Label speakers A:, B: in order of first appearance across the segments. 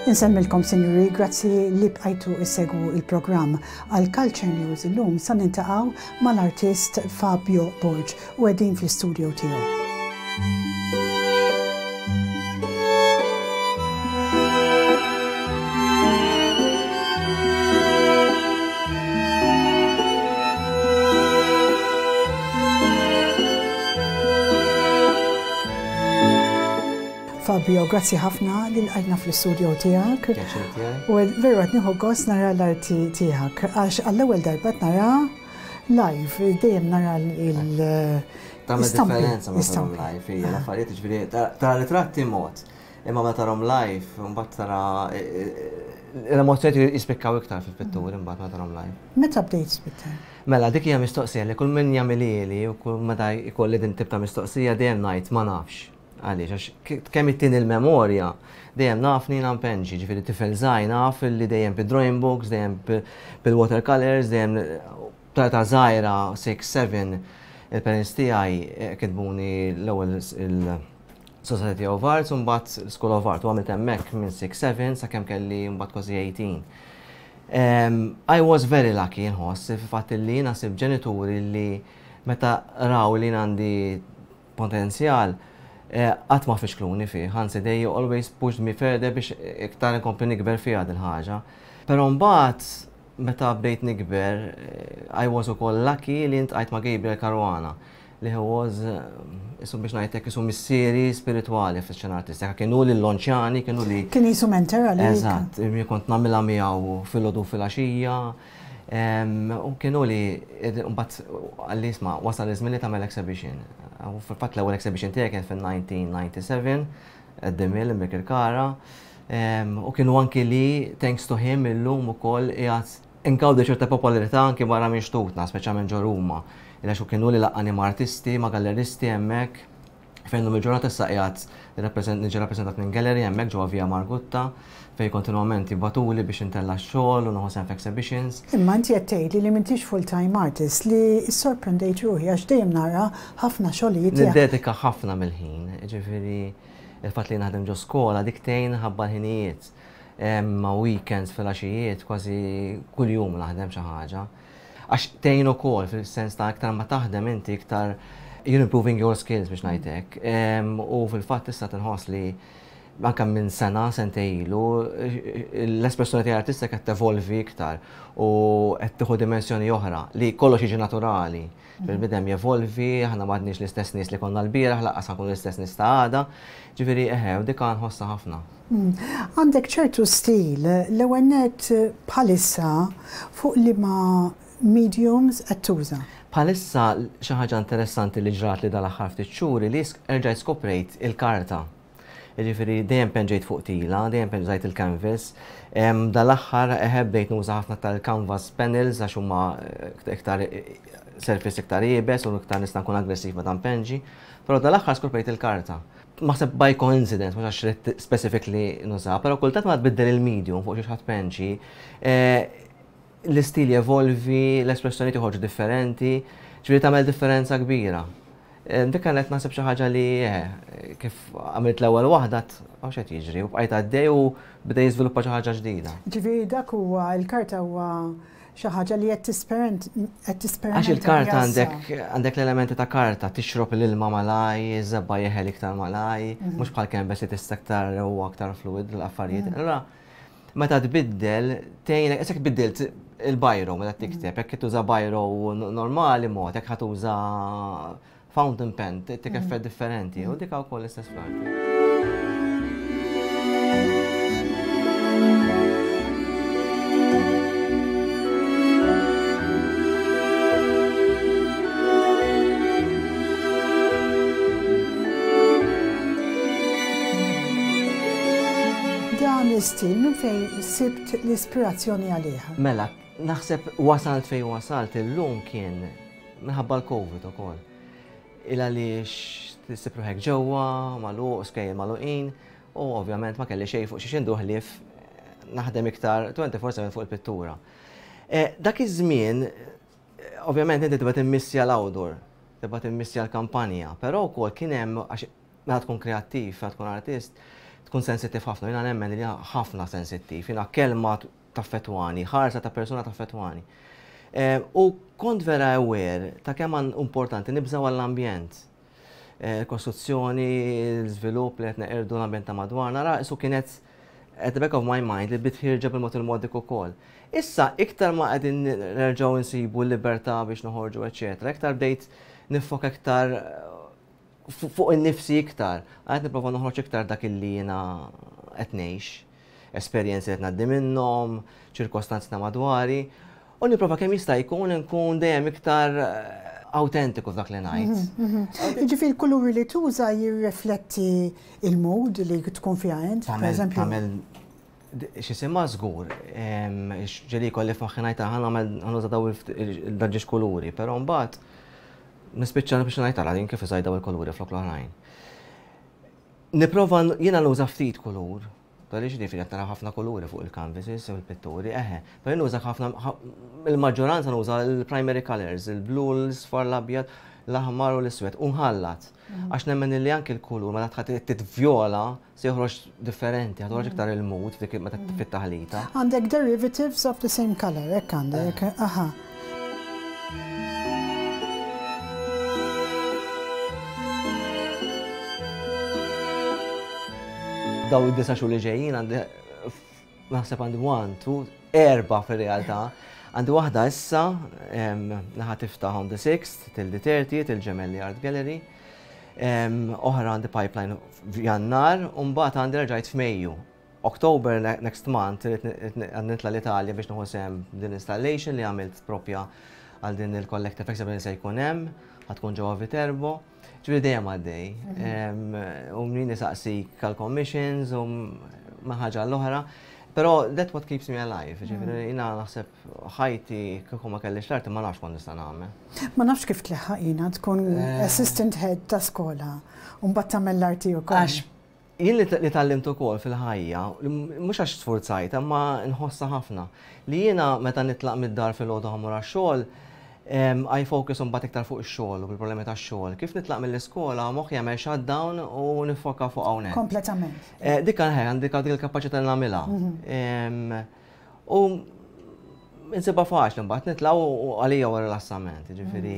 A: Insemmilkom, sinjuri, grazzi li bqajtu issegwu il-programm. Għal Culture News illum sa niltaqgħu mal-artist Fabio Borg u qegħdin fl-istudio tiegħu. Fabio, grazzi ħafna li lqajtna fl-istudio tiegħek. U veru qed nieħu gost nara l-arti tiegħek għax għall-ewwel darba qed nara live, dejjem nara l-
B: Tagħmel differenza ma tarahom live, hija l-affarijiet ġifieri tara ritratti mod, imma meta tarahom live, mbagħad tara l-emozzjonijiet jispikkaw iktar fil-pitturi mbagħad meta tarahom live.
A: Meta bdejt tpitter?
B: Mela, dik hija mistoqsija li kull min jagħmilhieli u kull meta jkolli din tip ta' mistoqsija dejjem ngħid ma nafx. Għaliex, għax kemm ittini l-memorja, dejjem naf li jiena npenġi, ġifieri tifel żgħir naf li dejjem bid-drawing books, dejjem bil-watercolors, dejjem ta' età żgħira, 6, 7, il-parents tiegħi eh, kitbuni l-ewwel il-Society of Arts u mbagħad School of Art u għamilt hemmhekk minn 6, 7 sakemm kelli mbagħad kważi 18. I was very lucky nħoss fil-fatt li jiena sib ġenituri li meta raw li jien għandi potenzjal qatt ma fixkluni fih, anzi they always pushed me further biex iktar inkompli nikber fiha din ħaġa. Però mbagħad meta bdejt nikber, I was ukoll lucky li ltqajt ma' Gabriel Caruana li he was isu biex ngħidlek isu missieri spiritwali fix-xena artistika. Kien hu li llonċjani, kien hu li.
A: Kien qisu mentor għalik.
B: Eżatt, kont nagħmilha miegħu filgħodu filgħaxija. U kienu li, mbagħad qalli isma' wasal iż-żmien li tagħmel exhibition. U fil-fatt l-ewwel exhibition tiegħi kien fil-1997 at The Mill in Birkirkara. U kienu anki li thanks to him illum ukoll qiegħed ingawdi ċerta popolarità anki barra minn xtutna, speċjalment ġo Ruma. Għax u kienu li laqqani ma' artisti, ma' galleristi hemmhekk. Fejn illum il-ġurnata issa qiegħed niġi rappreżentat minn gallery hemmhekk ġewwa Via Margutta fejn kontinwament jibagħtuli biex intella' x-xogħol u nieħu sehem f'exhibitions.
A: Imma inti qed tgħidli li m'intix full-time artist li ssorprendejt ruħi għax dejjem nara ħafna xogħlijiet tiegħek.
B: Niddedika ħafna mill-ħin, jiġifieri il-fatt li naħdem ġo skola dik tgħin ħabba l-ħinijiet. Ma' weekends filgħaxijiet kważi kuljum naħdem xi ħaġa. Għax tgħin ukoll fil-sens ta' iktar ma taħdem inti iktar you're improving your skills biex ngħid hekk. U fil-fatt issa tinħoss li anke minn sena, sentejn ilu, l-espressjoni tiegħi artistika qed tevolvi iktar u qed tieħu dimensjoni oħra li kollox jiġi naturali. Bil-bidem jevolvi, aħna m'għadniex l-istess nies li konna l-bieraħ, lanqas ħa nkunu l-istess nies ta' għada. Ġifieri eħe, u dik nħossha ħafna.
A: Għandek ċertu stil, l-ewwel nett bħalissa fuq liema mediums qed tuża?
B: Bħalissa xi ħaġa interessanti li ġratli dal-aħħar ftit xhur li erġajt skoprejt il-karta. Jiġifieri dejjem penġejt fuq tila, dejjem penġajt il-canvas. Dal-aħħar eħe bdejt nuża ħafna tal-canvas panels għax huma iktar surface iktar iebes u iktar nista' nkun aggressiv meta npenġi. Però dal-aħħar skoprejt il-karta. Naħseb by coincidence, mhux għax ridt specifically nuża, però kultant meta tbiddel il-medium fuq xiex ħa tpenġi, l-istil jevolvi, l-espressjonijiet joħorġu differenti, ġifieri tagħmel differenza kbira. Dik kienet naħseb xi ħaġa li kif għamilt l-ewwel waħda għax qed jiġri u bqajt għaddej u beda jiżviluppa xi ħaġa ġdida.
A: Ġifieri dak huwa l-karta huwa xi ħaġa li qed tisperimenta.
B: Għax il-karta għandek għandek l-elementi ta' karta, tixrob l-ilma malaj, iż-żebgħa jeħel iktar malaj, mhux bħal canvas li tista' aktar u aktar fluid l-affarijiet. Allura meta tbiddel tgħinek, isek tbiddilt il-biro meta tikteb, jekk tuża biro normali mod, jekk ħa tuża fountain pen, tik effett differenti, u dik wkoll l-istess fl-arti.
A: Dan l-istil minn fejn sibt l-ispirazzjoni għalih?
B: Mela, naħseb wasalt fejn wasalt illum kien minħabba l-Covid ukoll. Il għaliex tissib ruħek ġewwa, magħluq, skejjel magħluqin, u ovvjament ma kelli xejn fuq xiex indur ħlief naħdem iktar 24/7 fuq il-pittura. Dak iż-żmien, ovvjament inti tibda timmissja l-outdoor, tibda timmissja l-kampanja, però wkoll kien hemm għax meta tkun kreattiv, meta tkun artist, tkun sensittiv ħafna, jiena nemmen li ħafna sensittiv, jiena kelma taffettwani, ħarsa ta' persuna taffettwani. U kont vera aware ta' kemm importanti nibżgħu għall-ambjent. Il-kostruzzjoni, l-iżvilupp li qed neqirdu l-ambjent ta' madwarna, ra isu kienet at the back of my mind li bdiet ħierġa bil-mod il-mod dik ukoll. Issa iktar ma qegħdin nerġgħu nsibu l-libertà biex noħorġu eċetera, iktar bdejt niffoka iktar fuq innifsi iktar. Għad nipprova noħroġ iktar dak illi jiena qed ngħix, esperjenzi li qed ngħaddi minnhom, ċirkostanzi ta' madwari, u nipprova kemm jista' jkun nkun dejjem iktar awtentiku f'dak li ngħid.
A: Jiġifieri l-kuluri li tuża jirrifletti il-mood li tkun fiha int, pereżempju.
B: Tagħmel x'isimha żgur, ġieli jkolli f'moħħi ngħid ħa nagħmel ħa nuża daw il-ġiex kuluri, però mbagħad nispiċċa biex ngħid ara din kif użajt daw il-kuluri flok l-oħrajn. Nipprova jiena nuża ftit kulur, għaliex ġifieri qed nara ħafna kuluri fuq il-canvases u l-pitturi, eħe, però nuża ħafna il-maġġoranza nuża l-primary colors, il-blu, l-isfar, l-abjad, l-aħmar u l-iswed, u nħallat. Għax nemmen li anke l-kulur meta tħat titvjola se joħroġ differenti, ħa toħroġ iktar il-mood dik meta fit-taħlita.
A: Għandek derivatives of the same color, hekk għandek, aha.
B: Daw id-disa xhur li ġejjin għandi naħseb għandi one, two, erba' fir-realtà. Għandi waħda issa, naħa tiftaħ on the 6th till the 30th, il-Gemelli Art Gallery. Oħra għandi pipeline f'Jannar, u mbagħad għandi rġajt f'Mejju. October next month għandi nitla' l-Italja biex nieħu sehem din installation li għamilt propja għal din il-collective exhibition se jkun hemm, ħa tkun ġewwa Viterbo. Ġifieri dejjem għaddej. U min isaqsik għal commissions u ma ħaġa l-oħra. Però that's what keeps me alive. Ġifieri jiena naħseb ħajti kieku ma kellix l-arti ma nafx kont nista' nagħmel.
A: Ma nafx kif tleħħaq jiena tkun assistant head ta' skola u mbagħad tagħmel l-arti wkoll.
B: Għax jien li tgħallimt ukoll fil-ħajja, mhux għax sfurzajt, imma nħossha ħafna, li jiena meta nitlaq mid-dar filgħodu ħa mmur għax-xogħol, I focus imbagħad iktar fuq ix-xogħol u bil-problemi tax-xogħol. Kif nitlaq mill-iskola moħħi jagħmel shutdown u niffoka fuq hawnhekk.
A: Kompletament.
B: Dik għandi dik il-kapaċità li nagħmilha. U insibha faċli mbagħad nitlaq u għalija huwa rilassament, jiġifieri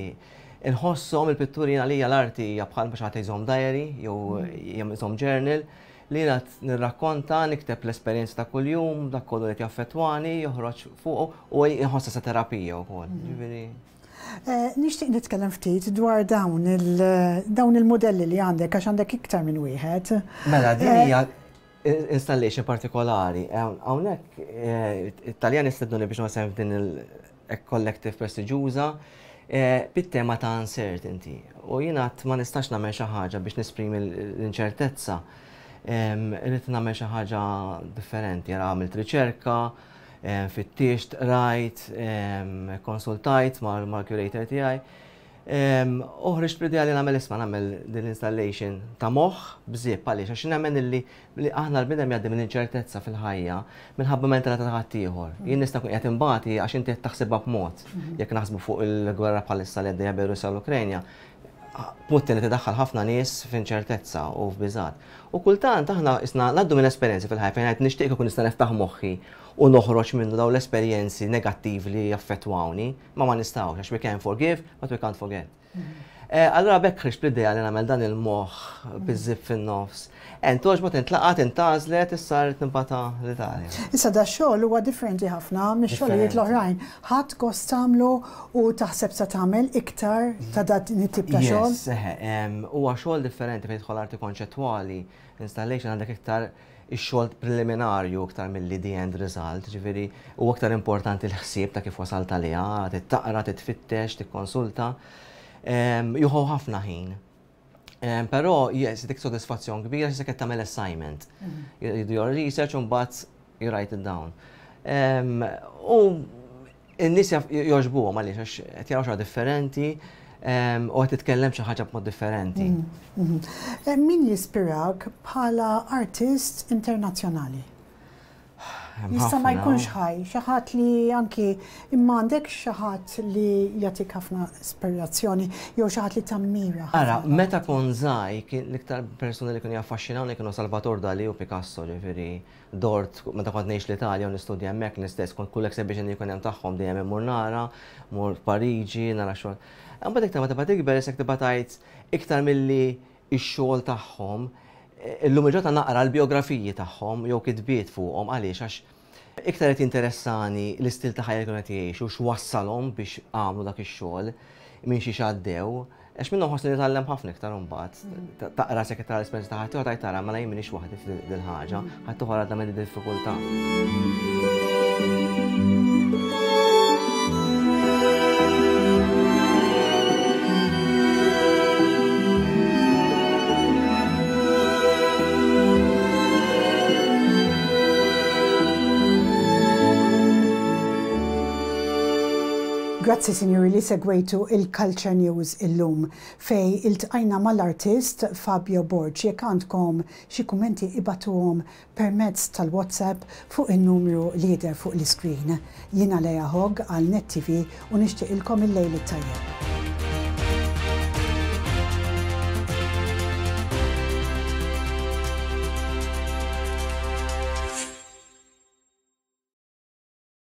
B: inħosshom il-pitturi għalija l-arti hija bħal xi ħadd jżomm diary jew jżomm journal li jiena nirrakkonta, nikteb l-esperjenzi ta' kuljum, dak kollu li qed jaffettwani, joħroġ fuq u inħossha sa terapija wkoll. Ġifieri.
A: Nixtieq nitkellem ftit dwar dawn il-mudelli li għandek għax għandek iktar minn wieħed.
B: Mela din hija installation partikolari. Hawnhekk it-Taljani stednuni biex nagħmel f'din il-collective prestiġjuża bit-tema ta' uncertainty. U jiena ma nistax nagħmel xi ħaġa biex nesprimi l-inċertezza. Irrid nagħmel xi ħaġa differenti. Ara għamilt riċerka, fittixt, rajt, konsultajt mal-curator tiegħi. U ħriġt bl-idea li nagħmel isma' nagħmel din l-installation ta' moħħ b'żipp għaliex għax nemmen illi aħna l-bniedem jgħaddi minn inċertezza fil-ħajja minħabba mentalità ta' ħaddieħor. Jien nista' nkun qiegħed inbati għax inti qed taħsibha b'mod. Jekk naħsbu fuq il-gwerra bħalissa li għaddejja bejn Russja u l-Ukranja, Putin qed idaħħal ħafna nies f'inċertezza u f'biżgħat. U kultant aħna isna ngħaddu minn esperjenzi fil-ħajja fejn ngħid nixtieq ikun nista' niftaħ moħħi u noħroġ minnu dawn l-esperjenzi negattivi li jaffettwawni, ma ma nistgħux għax we can forgive but we can't forget. Allura b'hekk ħriġt bl-idea li nagħmel dan il-moħħ biż-żipp fin-nofs. Entogħġbot, intlaqat, intgħażlet, issa rrid nibgħatha l-Italja.
A: Issa dax-xogħol huwa differenti ħafna mix-xogħlijiet l-oħrajn. Ħadt gost tagħmlu u taħseb se tagħmel iktar ta' dan it-tip ta' xogħol?
B: Yes, eħe, huwa xogħol differenti fejn tidħol arti konċettwali, installation għandek iktar ix-xogħol preliminarju iktar milli the end result, ġifieri huwa iktar importanti l-ħsieb ta' kif wasalt għaliha, trid taqra, trid tfittex, tikkonsulta. Jieħu ħafna ħin. Però yes, dik sodisfazzjon kbira xi qed tagħmel assignment. You do your research u mbagħad you write it down. U n-nies jogħġbuhom għaliex għax qed jaraw xi differenti u qed titkellem xi ħaġa b'mod differenti.
A: Min jispirak bħala artist internazzjonali? Jista' ma jkunx ħaj, xi ħadd li anki imma għandek xi ħadd li jagħtik ħafna ispirazzjoni jew xi ħadd li tammira.
B: Ara, meta kont żgħir kien l-iktar persuni li kienu jaffaxxinawni kienu Salvator Dali u Picasso, ġifieri dort meta kont ngħix l-Italja u nistudja hemmhekk l-istess kont kull exhibition li jkun hemm tagħhom dejjem immur nara, mur Pariġi, nara xogħol. Imbagħad iktar ma tibqa' tikber isek tibqa' tgħid iktar milli x-xogħol tagħhom, illum il-ġurnata naqra l-bijografiji tagħhom jew kitbiet fuqhom għaliex għax iktar qed jinteressani l-istil ta' ħajja li kienu qed jgħixu, x'wassalhom biex għamlu dak ix-xogħol, minn xiex għaddew, għax minnhom ħossni nitgħallem ħafna iktar imbagħad. Taqra sekk tara l-esperjenza ta' ħaddieħor tgħid tara mela jien m'iniex waħdi f'dil-ħaġa, ħaddieħor għadda minn diffikultà.
A: Grazzi sinjuri li segwejtu il-Culture News illum fej iltqajna mal-artist Fabio Borg. Jekk għandkom xi kummenti ibagħtuhom permezz tal-WhatsApp fuq in-numru li jidher fuq l-iskrin. Jiena Leah Hogg għal Net TV u nixtieqilkom il-lejl it-tajjeb.